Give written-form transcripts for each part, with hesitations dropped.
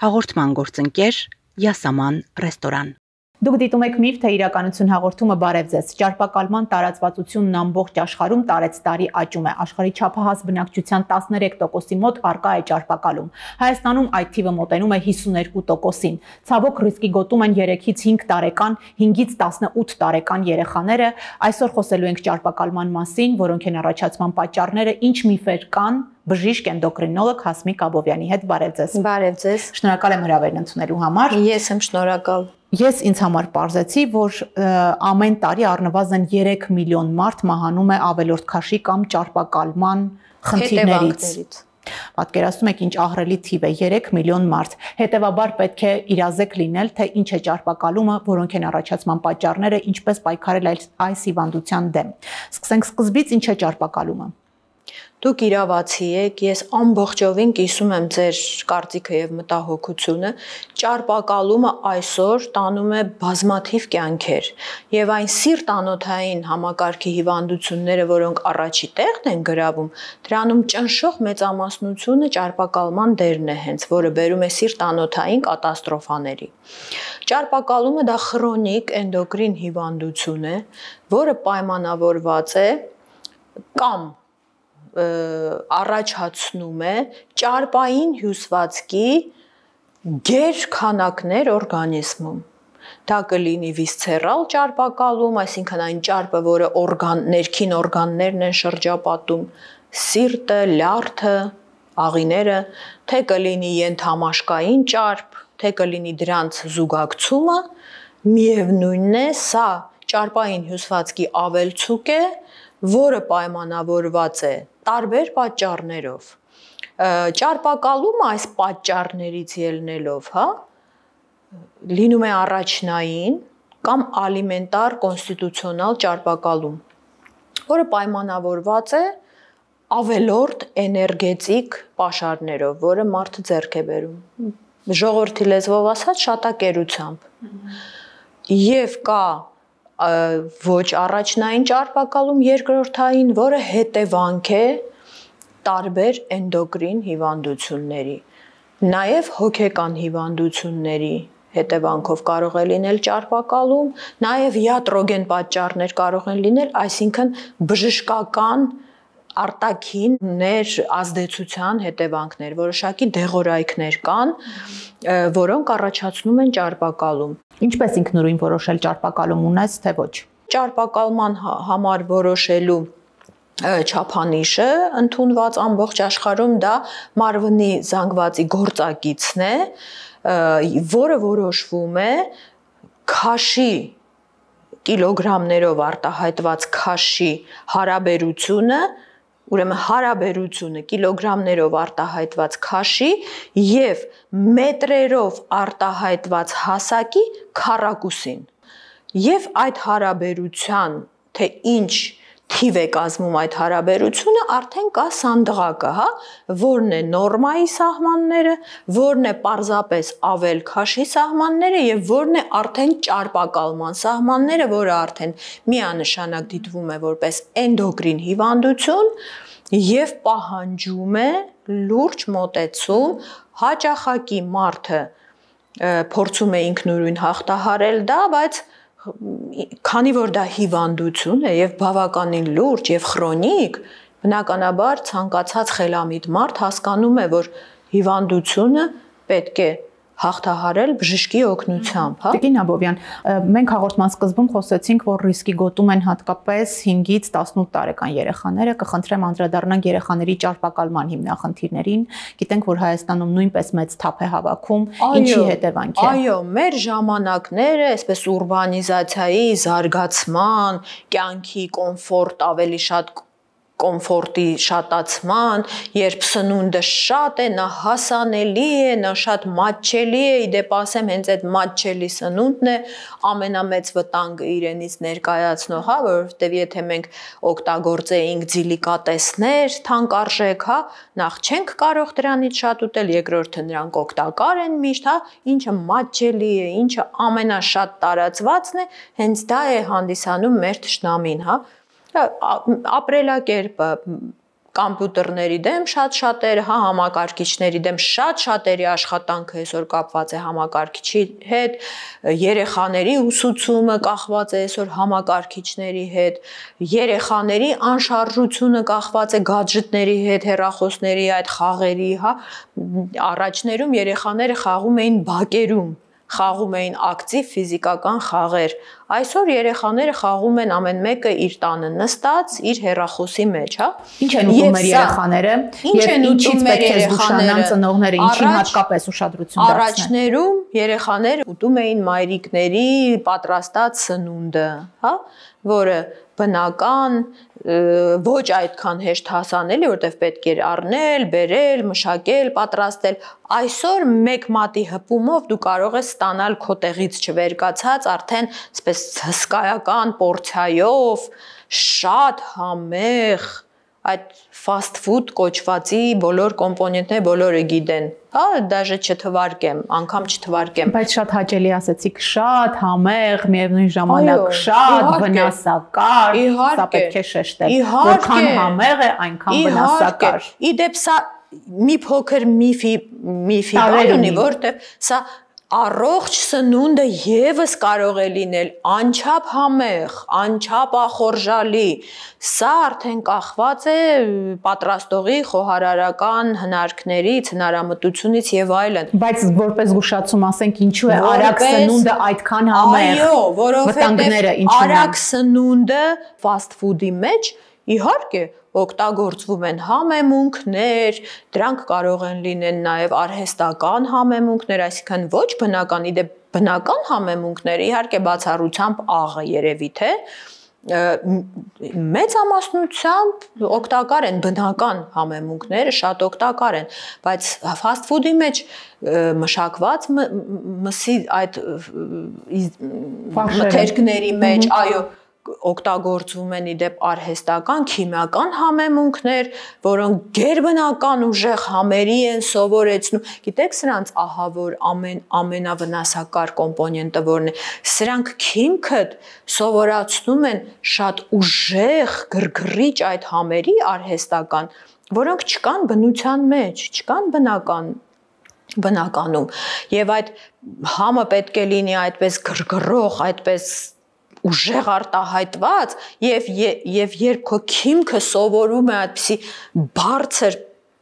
Հաղորդման գործընկեր Յասաման ռեստորան։ Դուք դիտում եք Միֆ թե իրականություն հաղորդումը բարև ձեզ։ Ճարպակալման տարածվածությունն ամբողջ աշխարհում տարեցտարի աճում է։ Աշխարհի չափահաս բնակչության 13%-ի մոտ առկա է ճարպակալում։ Հայաստանում այդ թիվը մոտենում է 52%-ին։ Ցավոք ռիսկի գոտում են 3-ից 5 տարեկան, 5-ից 18 տարեկան երեխաները։ Այսօր խոսելու ենք ճարպակալման մասին, որոնք են առաջացման պատճառները, ինչ միֆեր կան, բժիշկ էնդոկրինոլոգ Հասմիկ Աբովյանի հետ բարև ձեզ։ Բարև ձեզ։ Շնորհակալ եմ հրավերն ընդունելու համար։ Ես եմ շնորհակալ։ Ես ինձ համար պարզեցի, որ ամեն տարի առնվազն 3 միլիոն մարդ մահանում է ավելորդ քաշի կամ ճարպակալման խնդիրներից։ Պատկերացնում եք ինչ ահռելի թիվ է 3 միլիոն մարդ։ Հետևաբար պետք է իրազեկ լինել, թե ինչ է ճարպակալումը, որոնք են առաջացման պատճառները, ինչպես պայքարել այս հիվանդության դեմ։ Սկսենք սկզբից, ինչ է ճարպակալումը։ Դուք իրավացի եք, ես ամբողջովին կիսում եմ ձեր կարծիքը եւ մտահոգությունը։ Ճարպակալումը այսօր տանում է բազմաթիվ կյանքեր եւ այն սիրտանոթային համակարգի հիվանդությունները, որոնք առաջի տեղն են գրավում, դրանում ճնշող մեծամասնությունը ճարպակալման դերն է հենց, որը բերում է սիրտանոթային կատաստրոֆաների։ Ճարպակալումը դա խրոնիկ էնդոկրին հիվանդություն է, որը պայմանավորված է կամ առաջացնում է ճարպային հյուսվածքի գեր քանակներ օրգանիզմում։ Դա կլինի վիսցերալ ճարպակալում, այսինքն այն ճարպը, որը ներքին օրգաններն են շրջապատում, սիրտը, լյարդը, աղիները, թե կլինի ենթամաշկային ճարպ, թե կլինի դրանց զուգակցումը, միևնույնն է, սա ճարպային հյուսվածքի ավելցուկ է, որը պայմանավորված է տարբեր պատճառներով։ Ճարպակալումը այս պատճառներից ելնելով, լինում է առաջնային կամ ալիմենտար կոնստիտուցիոնալ ճարպակալում, որը պայմանավորված է ավելորդ էներգետիկ պաշարներով, որը մարդը ձեռք է բերում։ Ժողովրդի լեզվով ասած շատակերությամբ։ Եվ կա ոչ առաջնային ճարպակալում երկրորդային, որը հետևանք է տարբեր էնդոկրին հիվանդությունների, նաև հոգեկան հիվանդությունների հետևանքով կարող է լինել ճարպակալում, նաև յատրոգեն պատճառներ կարող են լինել, այսինքն բժշկական արտաքիններ ազդեցության հետևանքներ, որոշակի դեղորայքներ կան, որոնք առաջացնում են ճարպակալում։ Ինչպես ինքնուրույն որոշել ճարպակալում ունես, թե ոչ։ Ճարպակալման համար որոշելու չափանիշը ընդունված ամբողջ աշխարհում դա մարմնի զանգվածի գործակիցն է, որը որոշվում է քաշի կիլոգրամներով արտահայտված քաշի հարաբերությունը, ուրեմն հարաբերությունը կիլոգրամներով արտահայտված քաշի եւ մետրերով արտահայտված հասակի քառակուսին։ Եվ այդ հարաբերության, թե ինչ թիվ է կազմում այդ հարաբերությունը, արդեն կա սանդղակը, որն է նորմայի սահմանները, որն է պարզապես ավել քաշի սահմանները եւ որն է արդեն ճարպակալման սահմանները, որը արդեն միանշանակ դիտվում է որպես էնդոկրին հիվանդություն եւ պահանջում է լուրջ մոտեցում, հաճախակի մարդը փորձում է ինքնուրույն հաղթահարել դա, բայց քանի որ դա հիվանդություն է եւ բավականին լուրջ եւ քրոնիկ, բնականաբար ցանկացած խելամիտ մարդ հասկանում է, որ հիվանդությունը պետք է հաղթահարել բժշկի օգնությամբ, Տիկին Աբովյան, մենք հաղորդման սկզբում խոսեցինք, որ ռիսկի գոտում են հատկապես 5-ից 18 տարեկան երեխաները, կխնդրեմ անդրադառնանք երեխաների ճարպակալման հիմնախնդիրներին, գիտենք, որ Հայաստանում նույնպես մեծ թափ է հավաքում, ինչի հետևանք է։ Այո, մեր ժամանակները, այսպես ուրբանիզացիայի զարգացման, կյանքի կոմֆորտ ավելի շատ կոմֆորտի շատացման, երբ սնունդը շատ է, նա հասանելի է, նա շատ մատչելի է, իդեպ ասեմ, հենց այդ մատչելի սնունդն է ամենամեծ վտանգը իրենից ներկայացնող, որովհետև եթե մենք օգտագործեինք դիլիկատեսներ, թանկարժեք, նախ չենք կարող դրանից շատ ուտել, երկրորդը նրանք օգտակար են միշտ, ինչը մատչելի է, ինչը ամենաշատ տարածվածն է, հենց դա է հանդիսանում մեր թշնամին, ապրելակերպը, կոմպյուտերների դեմ շատ-շատերը, հա, համակարգիչների դեմ շատ-շատերի աշխատանքը այսօր կապված է համակարգիչի հետ, երեխաների ուսուցումը կախված է այսօր համակարգիչների հետ, երեխաների անշարժությունը կախված է գադժետների հետ, հեռախոսների այդ խաղերի, հա, առաջներում երեխաները խաղում էին բակերում, խաղում էին ակտիվ ֆիզիկական խաղեր։ Այսօր երեխաները խաղում են ամեն մեկը իր տանը նստած, իր հեռախոսի մեջ, հա։ Ինչ են ուտում մեր երեխաները եւ ինչից պետք է զգուշանան ծնողները, ինչին հատկապես ուշադրություն դարձնել։ Առաջներում երեխաները ուտում էին մայրիկների պատրաստած սնունդը, հա, որը բնական, ոչ այդքան հեշտ հասանելի, որտեղ պետք էր առնել, բերել, մշակել, պատրաստել։ Այսօր մեկ մատի հպումով դու կարող ես ստանալ քո տեղից չվերկացած արդեն այսպես հսկայական պորցիայով, շատ համեղ, այդ fast food կոչվածի բոլոր կոմպոնենտները բոլորը գիտեն, հա, դաժե չթվարկեմ, անգամ չթվարկեմ։ Բայց շատ հաճելի ասեցիք, շատ համեղ, միևնույն ժամանակ շատ վնասակար, սա պետք է շեշտել, որքան համեղ է, այնքան վնասակար։ Իդեպ սա մի փոքր միֆի բան ունի, որտեղ սա առողջ սնունդը եւս կարող է լինել անչափ համեղ, անչափ ախորժալի։ Սա արդեն կախված է պատրաստողի խոհարարական հնարքներից, հնարամտությունից եւ այլն։ Բայց որպես զգուշացում ասենք, ինչու է արագ սնունդը այդքան համեղ։ Այո, որովհետեւ արագ սնունդը fast food-ի մեջ իհարկե օգտագործվում են համեմունքներ, դրանք կարող են լինել նաև արհեստական համեմունքներ, այսինքն ոչ բնական, իդեպ բնական համեմունքները իհարկե բացառությամբ աղը երևի թե մեծամասնությամբ օգտակար են բնական համեմունքները, շատ օգտակար են, բայց fast food-ի մեջ մշակված մսի այդ մթերքների մեջ, այո, օգտագործվում են իդեպ արհեստական, քիմիական համեմունքներ, որոնք գերբնական ուժեղ համերի են սովորեցնում։ Գիտեք սրանց ահա որ ամենավնասակար կոմպոնենտը որն է։ Սրանք քիմքը սովորացնում են շատ ուժեղ, գրգռիչ այդ համերի արհեստական, որոնք չկան բնության մեջ, չկան բնականում։ Եվ այդ համը պետք է լինի այդպես գրգռող, այդպես ուժեղ արտահայտված եւ երբ քո քիմքը սովորում է այդպիսի բարձր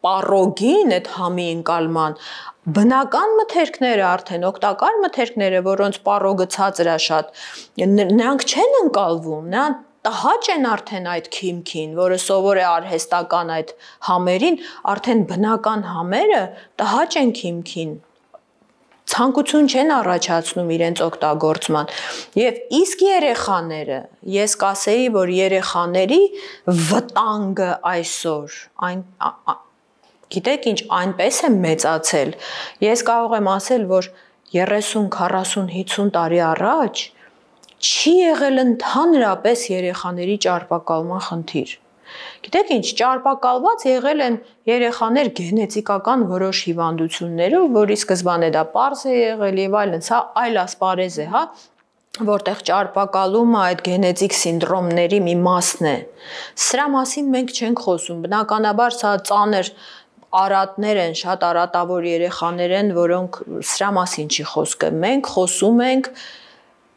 պարոգին այդ համի ընկալման, բնական մթերքները արդեն օգտակար մթերքները, որոնց պարոգը ցածր է շատ, նրանք չեն ընկալվում, նրանք տհաճ են արդեն այդ քիմքին, որը սովոր է արհեստական այդ համերին, արդեն բնական համերը տհաճ են քիմքին։ Ցանկություն չեն առաջացնում իրենց օգտագործման եւ իսկ երեխաները ես կասեի որ երեխաների վտանգը այսօր այն գիտեք ինչ այնպես է մեծացել ես կարող եմ ասել որ 30, 40, 50 տարի առաջ չի եղել ընդհանրապես երեխաների ճարպակալման խնդիր Գիտեք ինչ, ճարպակալված եղել են երեխաներ գենետիկական որոշ հիվանդություններով, որի սկզբանե դա պարզ է եղել եւ այլն, սա այլ ասպարեզ է, հա, որտեղ ճարպակալումը այդ գենետիկ սինդրոմների մի մասն է։ Սրա մասին մենք չենք խոսում, բնականաբար սա ծանր արատներ են, շատ արատավոր երեխաներ են, որոնք սրա մասին չի խոսքը։ Մենք խոսում ենք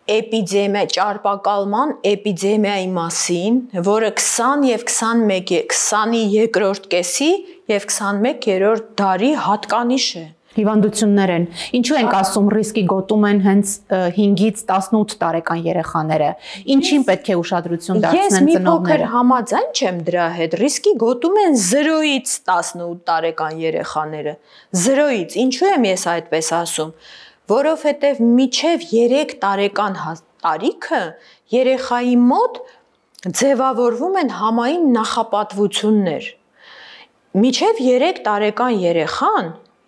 ճարպակալման էպիդեմիայի մասին, որը 20 եւ 20-ի երկրորդ կեսի եւ 21-րդ դարի հատկանիշ է։ Հիվանդություններ են։ Ինչու ենք ասում ռիսկի գոտում են հենց 5-ից 18 տարեկան երեխաները։ Ինչին պետք է ուշադրություն դարձնեն ծնողները։ Ես մի փոքր համաձայն չեմ դրա հետ։ Ռիսկի գոտում են 0-ից 18 տարեկան երեխաները։ 0-ից։ Ինչու եմ ես այդպես ասում։ Որովհետև միջև 3 տարեկան տարիքը երեխայի մոտ ձևավորվում են համային նախապատվություններ։ Միջև 3 տարեկան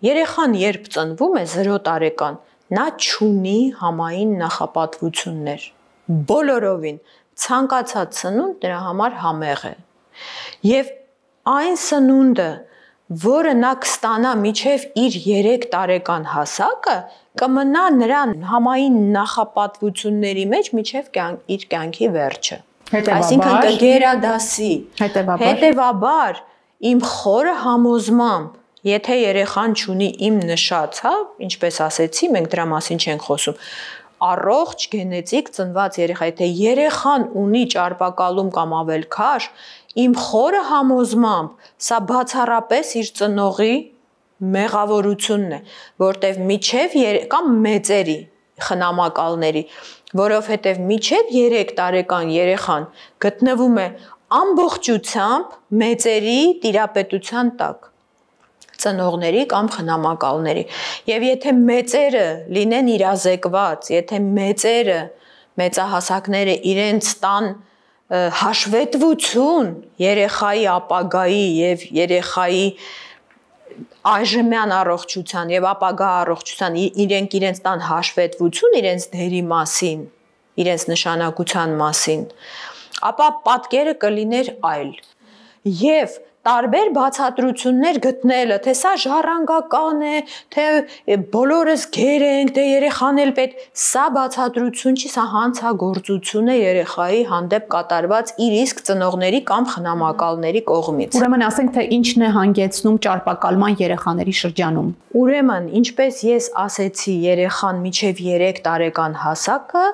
երեխան երբ ծնվում է 0 տարեկան, նա չունի համային նախապատվություններ։ Բոլորովին ցանկացած սնունդ նրա համար համեղ է։ Եվ այն սնունդը, որը նա կստանա միջև իր 3 տարեկան հասակը, կմնա նրան համային նախապատվությունների մեջ միջև իր կյանքի վերջը։ Այսինքն կգերադասի։ Հետևաբար իմ խորը համոզմամբ, եթե երեխան չունի իմ նշած, հա, ինչպես ասեցի, մենք դրա մասին չենք խոսում, առողջ գենետիկ ծնված երեխա, եթե երեխան ունի ճարպակալում կամ ավելքաշ, իմ խորը համոզմամբ, սա բացառապես իր ծնողի մեղավորությունն է, որտեվ միջև կամ մեծերի խնամակալների, որովհետև միջև 3 տարեկան երեխան գտնվում է ամբողջությամբ մեծերի տիրապետության տակ, ծնողների կամ խնամակալների, եւ եթե մեծերը լինեն իրազեկված, եթե մեծերը, մեծահասակները իրենց տան հաշվետվություն երեխայի ապագայի եւ երեխայի այժմյան առողջության եւ ապագա առողջության իրենց տան հաշվետվություն իրենց դերի մասին, իրենց նշանակության մասին, ապա պատկերը կլիներ այլ։ Եվ տարբեր բացատրություններ գտնելը, թե սա ժառանգական է, թե բոլորս գեր ենք, թե երեխան էլ պետք, սա բացատրություն չի, սա հանցագործություն է երեխայի հանդեպ կատարված իր իսկ ծնողների կամ խնամակալների կողմից։ Ուրեմն ասենք, թե ինչն է հանգեցնում ճարպակալման երեխաների շրջանում։ Ուրեմն, ինչպես ես ասեցի, երեխան միջև 3 տարեկան հասակը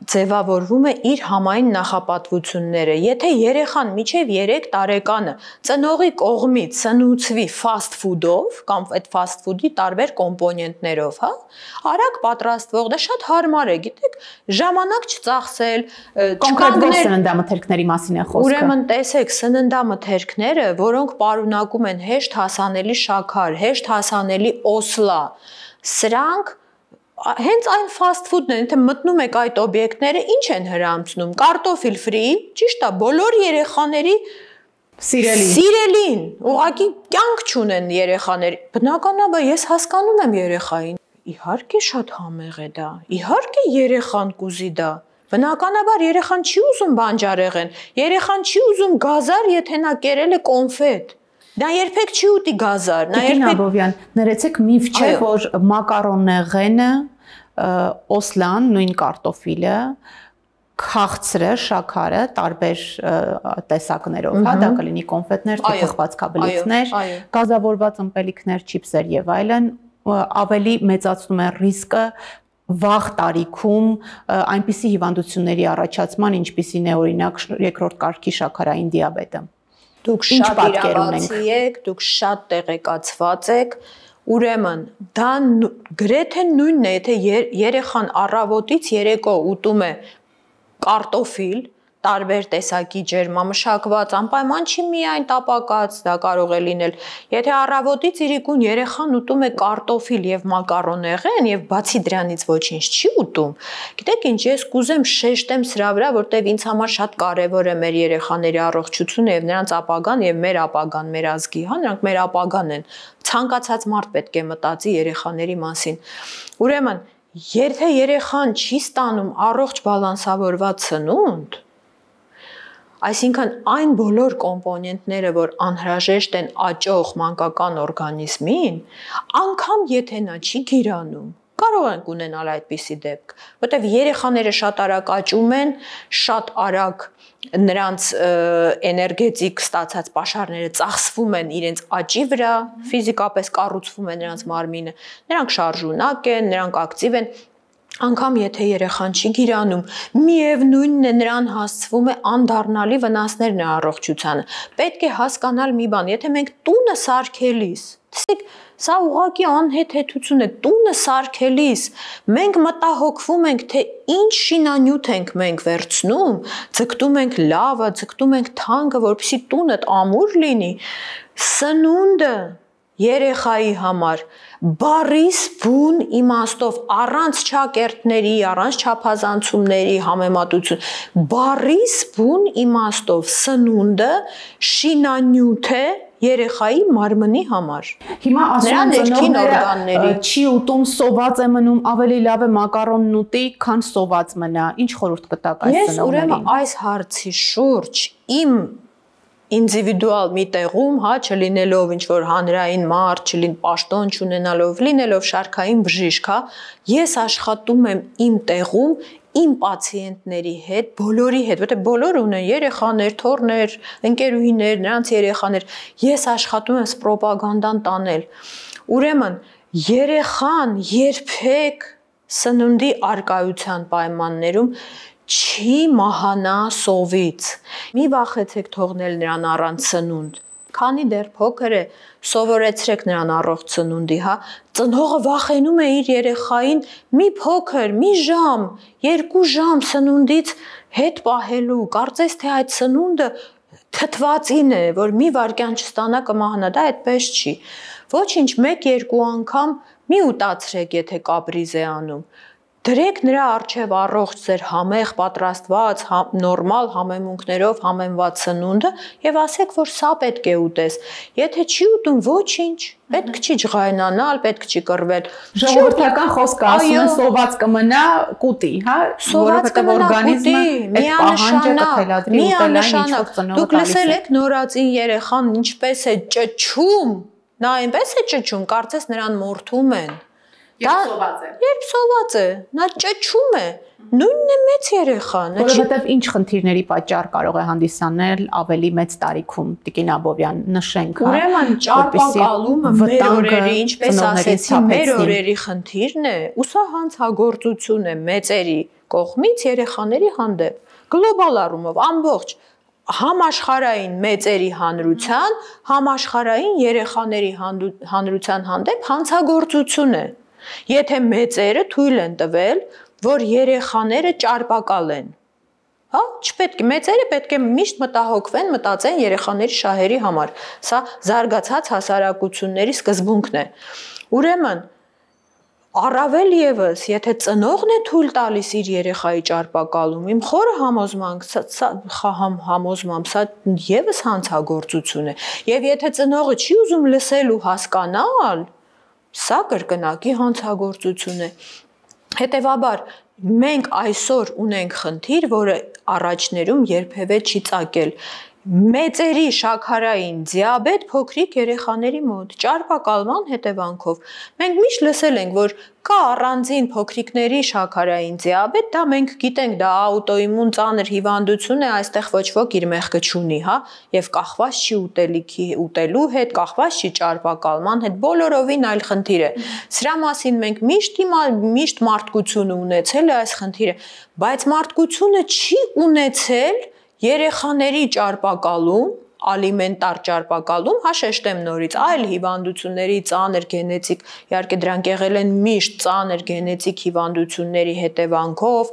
ձևավորվում է իր համային նախապատվությունները։ Եթե երեխան միջև 3 տարեկանը ծնողի կողմից սնուցվի fast food-ով կամ այդ fast food-ի տարբեր կոմպոնենտներով, հա, արագ պատրաստվող, դա շատ հարմար է, գիտեք, ժամանակ չծախսել, կոնկրետ սննդամթերքների մասին է խոսքը։ Ուրեմն տեսեք, սննդամթերքները, որոնք պարունակում են հեշտ հասանելի շաքար, հեշտ հասանելի օսլա, սրանք հենց այն fast food-ն են, եթե մտնում եք այդ օբյեկտները, ինչ են հրամցնում, կարտոֆիլ ֆրի, ճիշտ է, բոլոր երեխաների սիրելին, ուղղակի կյանք չունեն երեխաների, բնականաբար ես հասկանում եմ երեխային, իհարկե շատ համեղ է դա, իհարկե երեխան կուզի դա, բնականաբար երեխան չի ուզում բանջարեղեն, երեխան չի ուզում գազար, եթե նա կերել է կոնֆետ, նա երբեք չի ուտի գազար, նա երբեք Աբովյան, ներեցեք միֆ չէ, որ մակարոնեղենը, օսլան, նույն կարտոֆիլը, քաղցրը, շաքարը, տարբեր տեսակներով, հա, դա կլինի կոնֆետներ, թե թխվածքաբլիթներ, գազավորված ըմպելիքներ, չիփսեր եւ այլն, ավելի մեծացնում են ռիսկը վաղ տարիքում այնպիսի հիվանդությունների առաջացման, ինչպիսին է օրինակ 2-րդ կարգի շաքարային դիաբետը։ Դուք շատ իրավացի եք, դուք շատ տեղեկացված եք, ուրեմն դա գրեթե նույնն է, եթե երեխան առավոտից երեկո ուտում է կարտոֆիլ, տարբեր տեսակի ջերմամշակված, անպայման չի միայն տապակած, դա կարող է լինել, եթե առավոտից իրիկուն երեխան ուտում է կարտոֆիլ եւ մակարոնեղեն եւ բացի դրանից ոչինչ չի ուտում, գիտեք ինչ, ես կուզեմ շեշտեմ սրա վրա, որտեվ ինձ համար շատ կարեւոր է մեր երեխաների առողջությունը եւ նրանց ապագան եւ մեր ապագան, մեր ազգի, հա, նրանք մեր ապագան են, ցանկացած մարդ պետք է մտածի երեխաների մասին, ուրեմն, եթե երեխան չի ստանում առողջ բալանսավորված սնունդ, այսինքն այն բոլոր կոմպոնենտները, որ անհրաժեշտ են աճող մանկական օրգանիզմին, անգամ եթե նա չի գիրանում, կարող ենք ունենալ այդպիսի դեպք, որտեղ երեխաները շատ արագ աճում են, շատ արագ նրանց էներգետիկ ստացած պաշարները ծախսվում են իրենց աճի վրա, ֆիզիկապես կառուցվում է նրանց մարմինը, նրանք շարժունակ են, նրանք ակտիվ են, անգամ եթե երեխան չի գիրանում, միևնույնն է նրան հասցվում է անդառնալի վնասներն է առողջությանը։ Պետք է հասկանալ մի բան, եթե մենք տունը սարքելիս, տեսեք, սա ուղղակի անհեթեթություն է, տունը սարքելիս, մենք մտահոգվում ենք, թե ինչ շինանյութ ենք մենք վերցնում, ձգտում ենք լավը, ձգտում ենք թանկը, որպեսզի տունդ ամուր լինի, սնունդը երեխայի համար բարիս բուն իմաստով առանց չակերտների, առանց չափազանցումների համեմատություն, բարիս բուն իմաստով սնունդը շինանյութ է երեխայի մարմնի համար։ Հիմա ասում են ծնողները չի ուտում, սոված է մնում, ավելի լավ է մակարոնն ուտի, քան սոված մնա։ Ինչ խորհուրդ կտաք այս ծնողներին։ Ես ուրեմն այս հարցի շուրջ իմ ինդիվիդուալ մի տեղում, հա, չլինելով ինչ որ հանրային մարդ, պաշտոն չունենալով, լինելով շարքային բժիշկ, հա, ես աշխատում եմ իմ տեղում, իմ պացիենտների հետ, բոլորի հետ, որտեղ բոլորը ունեն երեխաներ, թոռներ, ընկերուհիներ, նրանց երեխաներ, ես աշխատում եմ պրոպագանդան տանել։ Ուրեմն, երեխան երբեք սնունդի արկայության պայմաններում չի մահանա սովից։ Մի վախեցեք թողնել նրան առանց սնունդ։ Քանի դեռ փոքր է, սովորեցրեք նրան առողջ սնունդի, հա։ Ծնողը վախենում է իր երեխային մի փոքր, մի ժամ, 2 ժամ սնունդից հետ պահելու։ Կարծես թե այդ սնունդը թթվածին է, որ մի վայրկյան չստանա կմահանա, դա այդպես չի։ Ոչինչ, 1-2 անգամ մի ուտացրեք, եթե կապրիզ է անում։ Դրեք նրա առջև առողջ ձեր համեղ պատրաստված, նորմալ համեմունքներով համեմված սնունդը եւ ասեք, որ սա պետք է ուտես։ Եթե չի ուտում, ոչինչ, պետք չի ջղայնանալ, պետք չի կռվել։ Ժողովրդական խոսքը ասում են սոված կմնա կուտի, հա, որովհետեւ օրգանիզմը այդ պահանջը կթելադրի ուտելային ինչ-որ ծնողը։ Դուք լսել եք նորածին երեխան ինչպես է ճչում, նա այնպես է ճչում, կարծես նրան մորթում են։ Երբ սոված է, նա ճչում է, նույնն է մեծ երեխան։ Որովհետև ինչ խնդիրների պատճառ կարող է հանդիսանել ավելի մեծ տարիքում, Տիկին Աբովյան, նշենք, հա։ Ուրեմն ճարպակալումը մեր օրերի, ինչպես ասեցի, մեր օրերի խնդիրն է, ու սա հանցագործություն է մեծերի կողմից երեխաների հանդեպ։ Գլոբալ առումով ամբողջ համաշխարհային մեծերի հանրության, համաշխարհային երեխաների հանրության հանդեպ հանցագործություն է։ Եթե մեծերը թույլ են տվել, որ երեխաները ճարպակալեն, հա, չպետք է, մեծերը պետք է միշտ մտահոգվեն, մտածեն երեխաների շահերի համար։ Սա զարգացած հասարակությունների սկզբունքն է։ Ուրեմն, առավել եւս, եթե ծնողն է թույլ տալիս իր երեխայի ճարպակալում, իմ խորը համոզմամբ, սա եւս հանցագործություն է։ Եվ եթե ծնողը չի ուզում լսել ու հասկանալ, սա կրկնակի հանցագործություն է։ Հետևաբար, մենք այսօր ունենք խնդիր, որը առաջներում երբևէ չի ծագել։ Մեծերի շաքարային դիաբետ փոքրիկ երեխաների մոտ ճարպակալման հետևանքով։ Մենք միշտ լսել ենք, որ կա առանձին փոքրիկների շաքարային դիաբետ, դա մենք գիտենք, դա աուտոիմուն ծանր հիվանդություն է, այստեղ ոչ ոք իր մեղքը չունի, հա, եւ կախված չի ուտելու հետ, կախված չի ճարպակալման հետ, բոլորովին այլ խնդիր է։ Սրա մասին մենք միշտ մարդկությունը ունեցել է այս խնդիրը, բայց մարդկությունը չի ունեցել երեխաների ճարպակալում, ալիմենտար ճարպակալում, հաշեշտեմ նորից, այլ հիվանդությունների ծանր գենետիկ, իհարկե դրանք եղել են միշտ ծանր գենետիկ հիվանդությունների հետևանքով,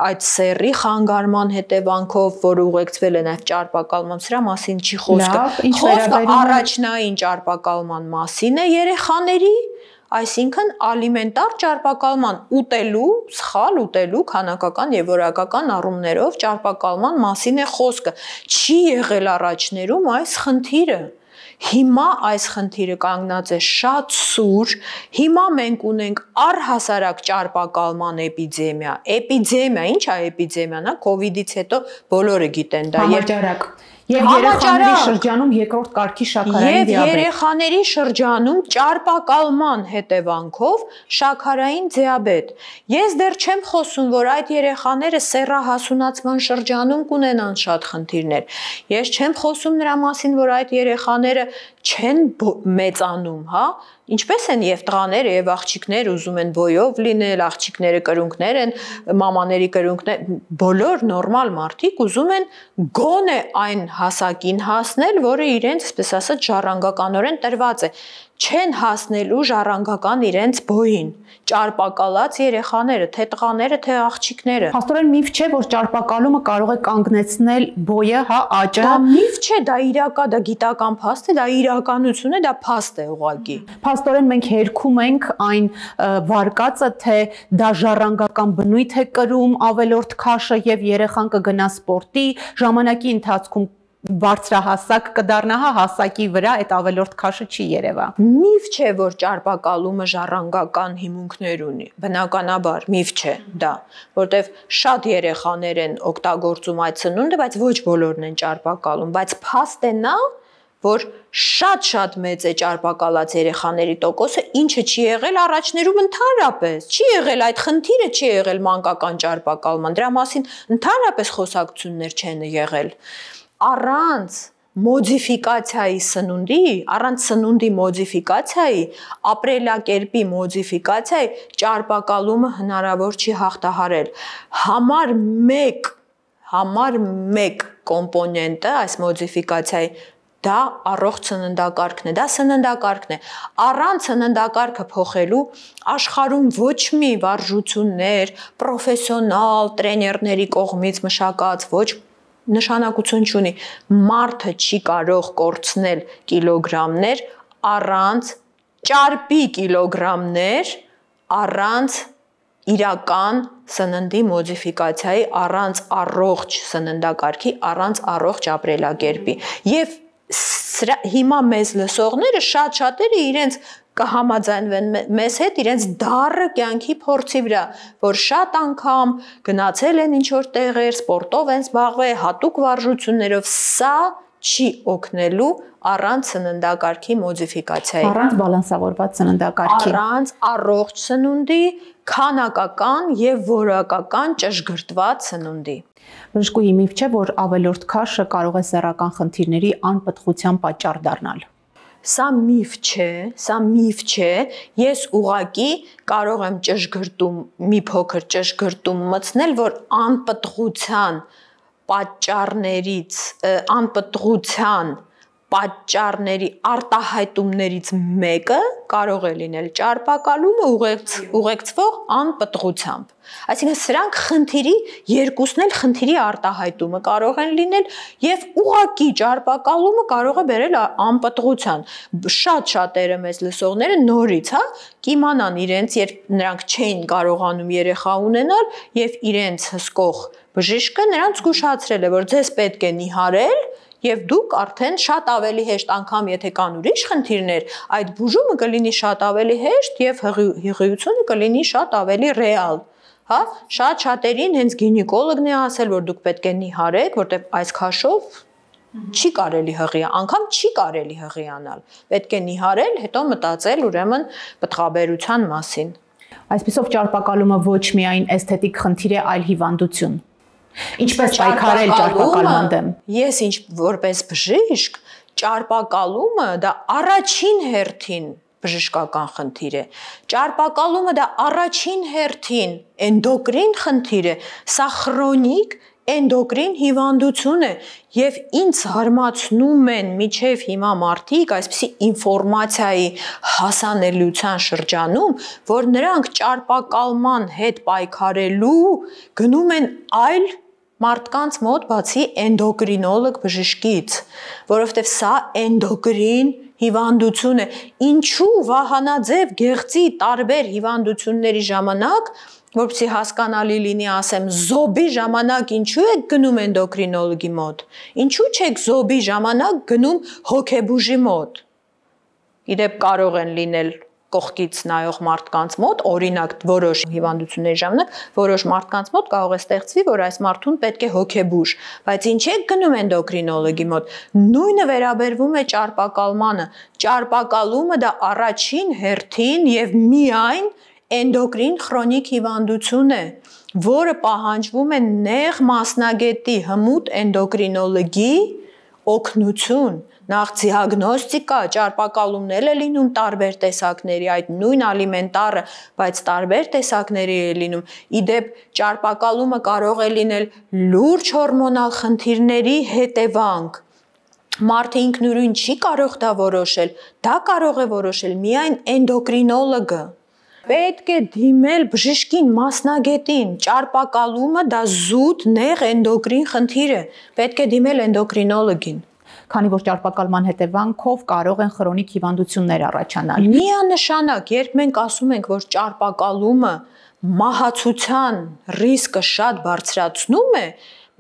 այդ սեռի խանգարման հետևանքով, որը ուղեկցվել է նաև ճարպակալման, սրա մասին չի խոսքը։ Խոսքը առաջնային ճարպակալման մասին է երեխաների, այսինքն ալիմենտար ճարպակալման ուտելու, սխալ ուտելու քանակական եւ որակական առումներով ճարպակալման մասին է խոսքը։ Չի եղել առաջներում այս խնդիրը։ Հիմա այս խնդիրը կանգնած է շատ սուր, հիմա մենք ունենք առհասարակ ճարպակալման էպիդեմիա։ Էպիդեմիա, ի՞նչ է էպիդեմիան, հա, կոവിഡ്ից հետո բոլորը գիտեն դա։ Համաճարակ։ Եվ երեխաների շրջանում երկրորդ կարգի շաքարային դիաբետ։ Եվ երեխաների շրջանում ճարպակալման հետևանքով շաքարային դիաբետ։ Ես դեռ չեմ խոսում, որ այդ երեխաները սեռահասունացման շրջանում կունենան շատ խնդիրներ։ Ես չեմ խոսում նրա մասին, որ այդ երեխաները չեն մեծանում, հա, ինչպես են եւ տղաները եւ աղջիկները ուզում են բոյով լինել, աղջիկները կրունկներ են, մամաների կրունկներ, բոլոր նորմալ մարդիկ ուզում են գոնե այն հասակին հասնել, որը իրենց, այսպես ասած, ժառանգականորեն տրված է, չեն հասնելու ժառանգական իրենց բոյին, ճարպակալած երեխաները, թե տղաները, թե աղջիկները։ Փաստորեն միֆ չէ, որ ճարպակալումը կարող է կանգնեցնել բոյը, հա, աճը։ Դա միֆ չէ, դա իրական, դա գիտական փաստ է, դա իրականություն է, դա փաստ է ուղղակի։ Փաստորեն մենք հերքում ենք այն վարկածը, թե դա ժառանգական բնույթ է կրում ավելորդ քաշը եւ երեխան կգնա սպորտի, ժամանակի ընթացքում բարձրահասակ կդառնա, հասակի վրա այդ ավելորդ քաշը չի երևա։ Միֆ չէ, որ ճարպակալումը ժառանգական հիմունքներ ունի։ Բնականաբար միֆ չէ դա, որտեվ շատ երեխաներ են օգտագործում այդ սնունդը, բայց ոչ բոլորն են ճարպակալում, բայց փաստ է նա, որ շատ մեծ է ճարպակալած երեխաների տոկոսը, ինչը չի եղել առաջներում ընդհանրապես, չի եղել այդ խնդիրը, չի եղել մանկական ճարպակալման, դրա մասին ընդհանրապես խոսակցություններ չեն եղել։ Առանց մոդիֆիկացիայի սնունդի, առանց սնունդի մոդիֆիկացիայի, ապրելակերպի մոդիֆիկացիայի ճարպակալումը հնարավոր չի հաղթահարել։ Համար մեկ կոմպոնենտը այս մոդիֆիկացիայի դա առողջ սննդակարգն է, դա սննդակարգն է։ Առանց սննդակարգը փոխելու աշխարհում ոչ մի վարժություններ, պրոֆեսիոնալ տրեներների կողմից մշակած ոչ նշանակություն չունի։ Մարդը չի կարող կորցնել կիլոգրամներ առանց ճարպի կիլոգրամներ, առանց իրական սննդի մոդիֆիկացիայի, առանց առողջ սննդակարգի, առանց առողջ ապրելակերպի։ Եվ հիմա մեզ լսողները շատերը իրենց կհամաձայնվեն մեզ հետ իրենց դառը կյանքի փորձի վրա, որ շատ անգամ գնացել են ինչ-որ տեղեր, սպորտով են զբաղվել, հատուկ վարժություններով, սա չի օգնելու առանց սննդակարգի մոդիֆիկացիայի, առանց բալանսավորված սննդակարգի, առանց առողջ սնունդի, քանակական եւ որակական ճշգրտված սնունդի։ Բժշկուհի, միֆ չէ, որ ավելորդ քաշը կարող է սեռական խնդիրների անպտղության պատճառ դառնալ։ Սա միֆ չէ, ես ուղղակի կարող եմ մի փոքր ճշգրտում մտցնել, որ անպտղության պատճառների արտահայտումներից մեկը կարող է լինել ճարպակալումը ուղեկցվող անպտղությամբ։ Այսինքն սրանք երկուսն էլ խնդիրի արտահայտումը կարող են լինել եւ ուղղակի ճարպակալումը կարող է բերել անպտղության։ Շատերը մեզ լսողները նորից, կիմանան իրենց, երբ նրանք չէին կարողանում երեխա ունենալ եւ իրենց հսկող բժիշկը նրանց զգուշացրել է, որ ձեզ պետք է նիհարել եւ դուք արդեն շատ ավելի հեշտ, անգամ եթե կան ուրիշ խնդիրներ, այդ բուժումը կլինի շատ ավելի հեշտ եւ հղիությունը կլինի շատ ավելի ռեալ։ Շատերին հենց գինեկոլոգն է ասել, որ դուք պետք է նիհարեք, որտեղ այս քաշով չի կարելի անգամ չի կարելի հղիանալ։ Պետք է նիհարել, հետո մտածել ուրեմն պտղաբերության մասին։ Այսպիսով ճարպակալումը ոչ միայն էսթետիկ խնդիր է, այլ հիվանդություն։ Ինչպես պայքարել ճարպակալման դեմ։ Ես որպես բժիշկ, ճարպակալումը դա առաջին հերթին բժշկական խնդիր է։ Ճարպակալումը դա առաջին հերթին էնդոկրին խնդիր է, սա քրոնիկ էնդոկրին հիվանդություն է եւ ինձ հարմացնում են միջև հիմա մարդիկ այսպիսի ինֆորմացիայի հասանելիության շրջանում, որ նրանք ճարպակալման հետ պայքարելու գնում են այլ մարդկանց մոտ բացի էնդոկրինոլոգ բժշկից, որովհետև սա էնդոկրին հիվանդություն է։ Ինչու վահանաձև գեղձի տարբեր հիվանդությունների ժամանակ, որպեսզի հասկանալի լինի, ասեմ, զոբի ժամանակ ինչու եք գնում էնդոկրինոլոգի մոտ, ինչու չեք զոբի ժամանակ գնում հոգեբուժի մոտ։ Իդեպ կարող են լինել կողքից նայող մարդկանց մոտ, օրինակ որոշ հիվանդությունների ժամանակ, որոշ մարդկանց մոտ կարող է ստեղծվի, որ այս մարդուն պետք է հոգեբուժ, բայց ինչ եք գնում էնդոկրինոլոգի մոտ։ Նույնը վերաբերվում է ճարպակալմանը։ Ճարպակալումը դա առաջին հերթին եւ միայն էնդոկրին քրոնիկ հիվանդություն է, որը պահանջվում է նեղ մասնագետի հմուտ էնդոկրինոլոգի օգնություն, նախ դիագնոստիկա, ճարպակալումներ է լինում տարբեր տեսակների, այդ նույն ալիմենտարը, բայց տարբեր տեսակների է լինում։ Իդեպ ճարպակալումը կարող է լինել լուրջ հորմոնալ խնդիրների հետևանք։ Մարդը ինքնուրույն չի կարող դա որոշել, դա կարող է որոշել միայն էնդոկրինոլոգը։ Պետք է դիմել բժշկին, մասնագետին, ճարպակալումը դա զուտ նեղ էնդոկրին խնդիր է, պետք է դիմել էնդոկրինոլոգին։ Քանի որ ճարպակալման հետևանքով կարող են քրոնիկ հիվանդություններ առաջանալ։ Միանշանակ, երբ մենք ասում ենք, որ ճարպակալումը մահացության ռիսկը շատ բարձրացնում է,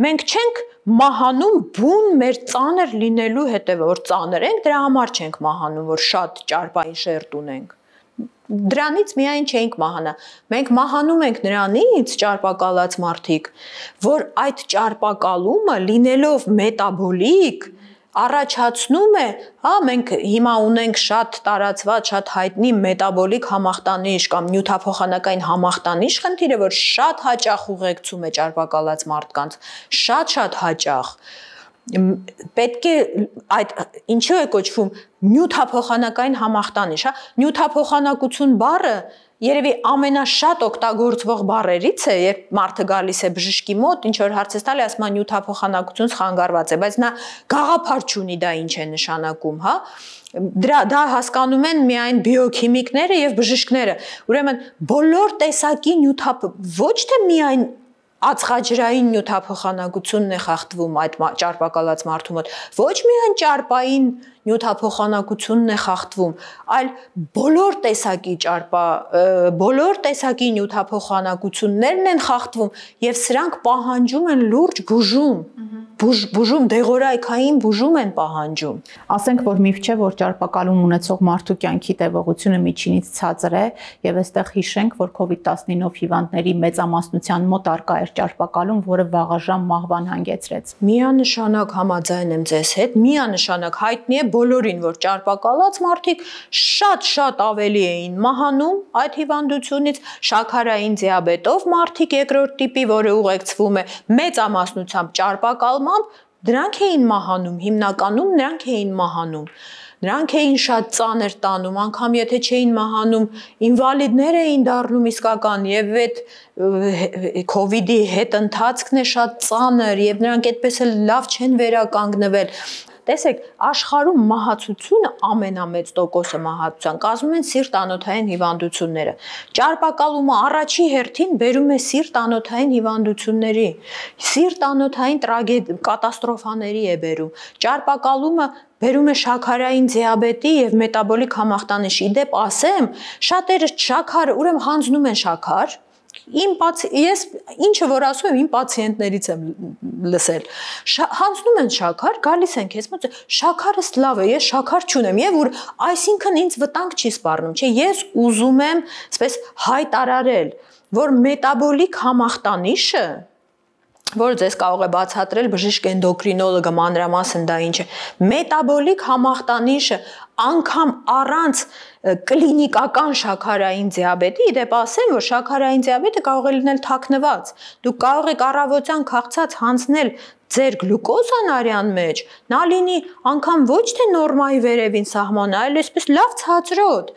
մենք չենք մահանում բուն մեր ծանր լինելու հետևը, որ ծանր ենք, դրա համար չենք մահանում, որ շատ ճարպային շերտ ունենք։ Դրանից միայն չենք մահանա։ Մենք մահանում ենք նրանից ճարպակալած մարդիկ, որ այդ ճարպակալումը լինելով մետաբոլիկ առաջացնում է, հա, մենք հիմա ունենք շատ տարածված, շատ հայտնի մետաբոլիկ համախտանիշ կամ նյութափոխանակային համախտանիշ խնդիրը, որ շատ հաճախ ուղեկցում է ճարպակալած մարդկանց, շատ հաճախ։ Պետք է այդ ինչու է կոչվում նյութափոխանակային համախտանիշ, հա, նյութափոխանակություն բառը երևի ամենաշատ օգտագործվող բառերից է, երբ մարդը գալիս է բժշկի մոտ, ինչ որ հարց է տալի, ասում է նյութափոխանակություն խանգարված է, բայց նա գաղափար չունի դա ինչ է նշանակում, հա։ Դա հասկանում են միայն բիոքիմիկները եւ բժիշկները։ Ուրեմն բոլոր տեսակի ոչ թե միայն ածխաջրային նյութափոխանակությունն է խախտվում այդ ճարպակալած մարդու մոտ, ոչ միայն ճարպային նյութափոխանակությունն է խախտվում, այլ բոլոր տեսակի նյութափոխանակություններն են խախտվում եւ սրանք պահանջում են լուրջ բուժում, դեղորայքային բուժում են պահանջում։ Ասենք, որ միֆ չէ, որ ճարպակալում ունեցող մարդու կյանքի տևողությունը միջինից ցածր է եւ այստեղ հիշենք, որ COVID-19-ով հիվանդների մեծամասնության մոտ առկա էր ճարպակալում, որը վաղաժամ մահվան հանգեցրեց։ Միանշանակ համաձայն եմ ձեզ հետ, միանշանակ հայտնի է բոլորին, որ ճարպակալած մարդիկ շատ ավելի էին մահանում այդ հիվանդությունից, շաքարային դիաբետով մարդիկ երկրորդ տիպի, որը ուղեկցվում է մեծամասնությամբ ճարպակալմամբ, դրանք էին մահանում, հիմնականում նրանք էին մահանում։ Նրանք էին շատ ծանր տանում, անգամ եթե չէին մահանում, ինվալիդներ էին դառնում իսկական եւ այդ COVID-ի հետ ընթացքն է շատ ծանր եւ նրանք այդպես էլ լավ չեն վերականգնվել։ Տեսեք, աշխարհում մահացությունը ամենամեծ տոկոսը մահացության կազմում են սիրտ-անոթային հիվանդությունները։ Ճարպակալումը առաջի հերթին բերում է սիրտ-անոթային հիվանդությունների, սիրտ-անոթային կատաստրոֆաների է բերում։ Ճարպակալումը բերում է շաքարային դիաբետի եւ մետաբոլիկ համախտանիշի։ Իդեպ ասեմ, շատերը շաքար, ուրեմն հանձնում են շաքար։ Ես ինչը որ ասում եմ, իմ պացիենտներից եմ լսել։ Հանձնում են շաքար, գալիս են քեզ մոտ, շաքարս լավ է, ես շաքար չունեմ, եւ որ այսինքն ինձ վտանգ չի սպառնում, չէ, ես ուզում եմ, այսպես հայտարարել, որ մետաբոլիկ համախտանիշը, որ ձեզ կարող է բացատրել բժիշկ էնդոկրինոլոգը մանրամասն դա ինչ է, մետաբոլիկ համախտանիշը անգամ առանց կլինիկական շաքարային դիաբետի, իդեպ ասեմ, որ շաքարային դիաբետը կարող է լինել թաքնված, դուք կարող եք առավոտյան քաղցած հանձնել ձեր գլուկոզան արյան մեջ, նա լինի անգամ ոչ թե նորմայի վերևին սահման, այլ այսպես լավ ցածրոտ։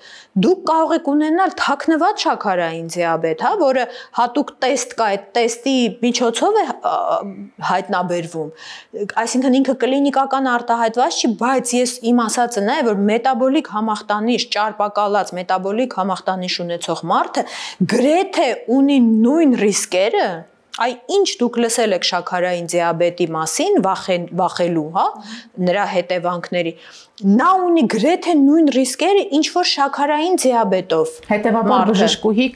Դուք կարող եք ունենալ թաքնված շաքարային դիաբետ, հա, որը հատուկ տեստ կա, այդ տեստի միջոցով է հայտնաբերվում։ Այսինքն ինքը կլինիկական արտահայտված չի, բայց իմ ասածը նա է, որ մետաբոլիկ համախտանիշ, ճարպակալած մետաբոլիկ համախտանիշ ունեցող մարդը գրեթե ունի նույն ռիսկերը, այ ինչ դուք լսել եք շաքարային դիաբետի մասին, վախելու, հա, նրա հետևանքների, նա ունի գրեթե նույն ռիսկերը, ինչ որ շաքարային դիաբետով։ Հետևաբար բժշկուհի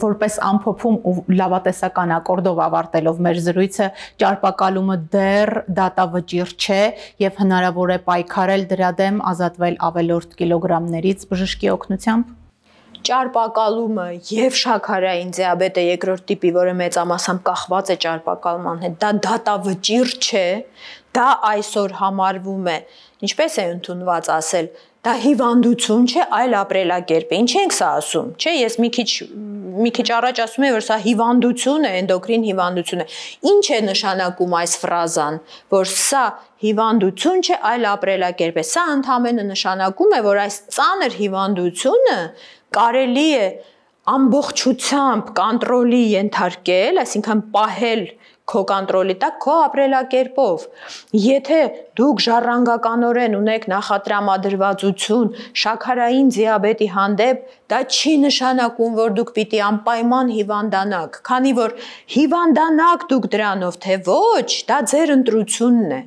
որպես ամփոփում ու լավատեսական ակորդով ավարտելով մեր զրույցը, ճարպակալումը դեռ դատավճիռ չէ եւ հնարավոր է պայքարել դրա դեմ, ազատվել ավելորդ կիլոգրամներից բժշկի օգնությամբ։ Ճարպակալումը եւ շաքարային դիաբետը երկրորդ տիպի, որը մեծամասամբ կախված է ճարպակալման հետ, դա դատավճիռ չէ, դա այսօր համարվում է, ինչպես է ընդունված ասել, դա հիվանդություն չէ, այլ ապրելակերպ է։ Ինչ ենք սա ասում, չէ, ես մի քիչ առաջ ասում եմ, որ սա հիվանդություն է, էնդոկրին հիվանդություն է։ Ինչ է նշանակում այս ֆրազան, որ սա հիվանդություն չէ, այլ ապրելակերպ է։ Սա ընդհանրապես նշանակում է, որ այս ծանր հիվանդությունը կարելի է ամբողջությամբ կոնտրոլի ենթարկել, այսինքն պահել քո կոնտրոլի տակ քո ապրելակերպով։ Եթե դուք ժառանգականորեն ունեք նախատրամադրվածություն շաքարային դիաբետի հանդեպ, դա չի նշանակում, որ դուք պիտի անպայման հիվանդանաք, քանի որ հիվանդանաք դուք դրանով, թե ոչ, դա ձեր ընտրությունն է։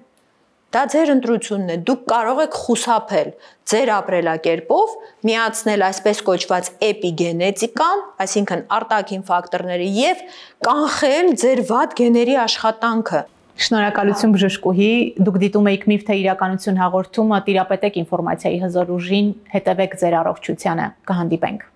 Դա ձեր ընտրությունն է, դուք կարող եք խուսափել ձեր ապրելակերպով, միացնել այսպես կոչված էպիգենետիկան, այսինքն արտաքին ֆակտորները եւ կանխել ձեր վատ գեների աշխատանքը։ Շնորհակալություն բժշկուհի, դուք դիտում եք Միֆ թե իրականություն հաղորդումը, տիրապետեք ինֆորմացիայի հզոր ուժին, հետևեք ձեր առողջությանը, կհանդիպենք։